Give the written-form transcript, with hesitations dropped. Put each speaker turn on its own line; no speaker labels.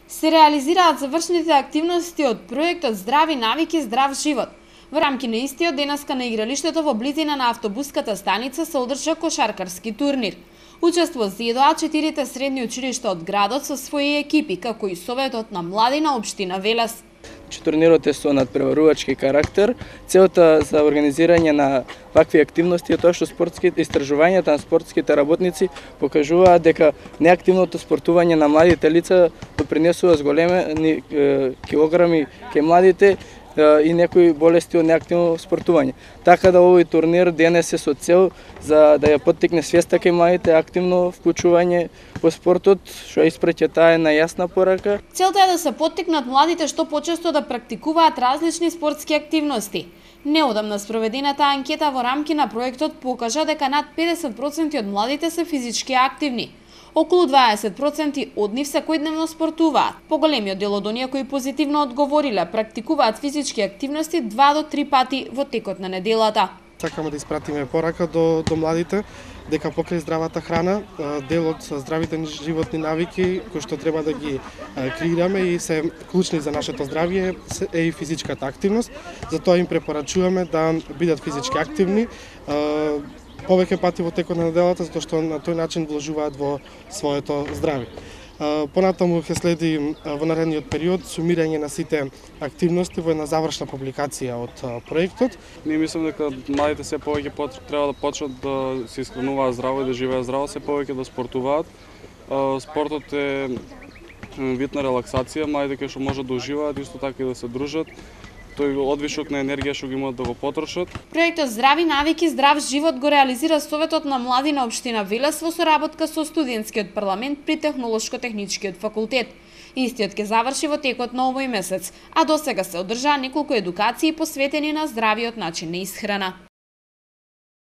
се реализираат завршните активности од проектот Здрави навики, здрав живот. Во рамки на истиот денеска на игралиштето во близина на автобуската станица се одржа кошаркарски турнир. Учество зедоа 4 средни училишта од градот со своји екипи, како и Советот на млади на општина Велес.
Турнирот е со надпреварувачки карактер. Целта за организирање на вакви активности е тоа што спортските истражувањата на спортските работници покажуваат дека неактивното спортување на младите лица допринесува зголемени килограми кај младите и некои болести од неактивно спортување. Така да овој турнир денес е со цел за да ја поттикне свеста кај младите, активно вклучување во спортот, што испраќа таа една јасна порака.
Целта е да се поттикнат младите што почесто да практикуваат различни спортски активности. Неодамна спроведената анкета во рамки на проектот покажа дека над 50% од младите се физички активни. Околу 20% од нив секојдневно спортуваат. Поголемиот дел од оние кои позитивно одговориле практикуваат физички активности 2 до 3 пати во текот на неделата.
Сакаме да испратиме порака до младите дека покрај здравата храна, дел од здравите животни навики кои што треба да ги креираме и се клучни за нашето здравје е и физичката активност. Затоа им препорачуваме да бидат физички активни повеќе пати во текот на неделата, затоа што на тој начин вложуваат во своето здравје. Понатаму ќе следи во наредниот период сумирање на сите активности во една завршна публикација од проектот.
Ние мислам дека младите се повеќе треба да почнат да се исхрануваат здраво и да живеат здраво, се повеќе да спортуваат. Спортот е вид на релаксација, младите што можат да уживаат, исто така и да се дружат. Тој одвишок на енергија што ги имаат да го потрошат.
Проектот Здрави навики, здрав живот го реализира Советот на млади на општина Велес во соработка со студентскиот парламент при Технолошко-техничкиот факултет. Истиот ќе заврши во текот на овој месец, а досега се одржаа неколку едукации посветени на здравиот начин на исхрана.